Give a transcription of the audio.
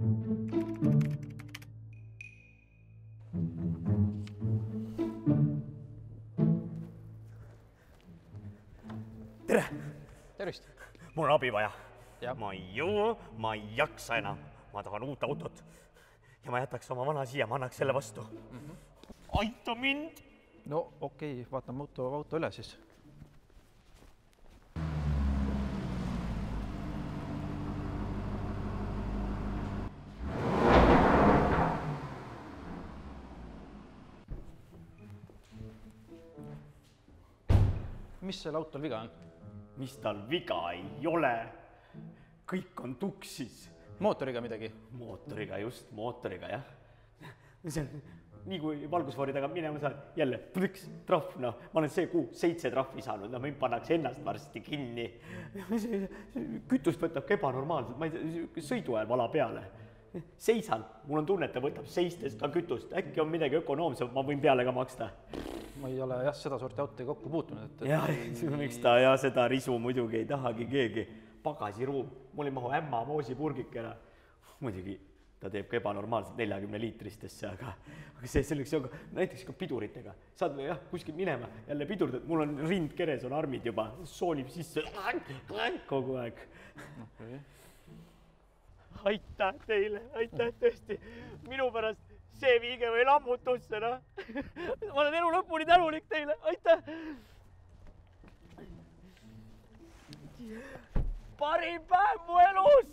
Tere! Tervist! Mul on abi vaja. Ja. Ma ei jõua, ma ei jaksa enam. Ma tahan uut autot. Ja ma jätaks oma vana siia, ma annaks selle vastu. Aita mind! No okei, vaatame auto üle siis. Mis selle autol viga on? Mis tal viga ei ole? Kõik on tuksis. Mootoriga midagi? Mootoriga, just mootoriga, jah. See on, nii kui valgusfoori taga minema saad, jälle plõks, trahv, no. Ma olen see kuu 7 trahvi saanud, no mind pannakse ennast varsti kinni. Kütust võtab ebanormaalselt, ma ei tea, sõidu ajal vala peale. Seisan, mul on tunne, et ta võtab seistes ka kütust. Äkki on midagi ökonoomsem, ma võin peale ka maksta. Ma ei ole jah seda sorti autoga kokku puutunud. Jah, miks ta ja seda risu muidugi ei tahagi keegi. Pagasiruum, mul ei mahu ämma moosipurgikena. Muidugi ta teeb ka ebanormaalselt 40-liitristesse, aga see selleks on näiteks ka piduritega. Saad või jah, kuskil minema, jälle pidurdad, mul on rind keres, on armid juba, soolib sisse kogu aeg. Okay. Aitäh teile, aitäh tõesti. Minu pärast see viige või lammutusse, no. Ma olen elu lõpuni tänulik teile, aitäh. Parim päev mu elus.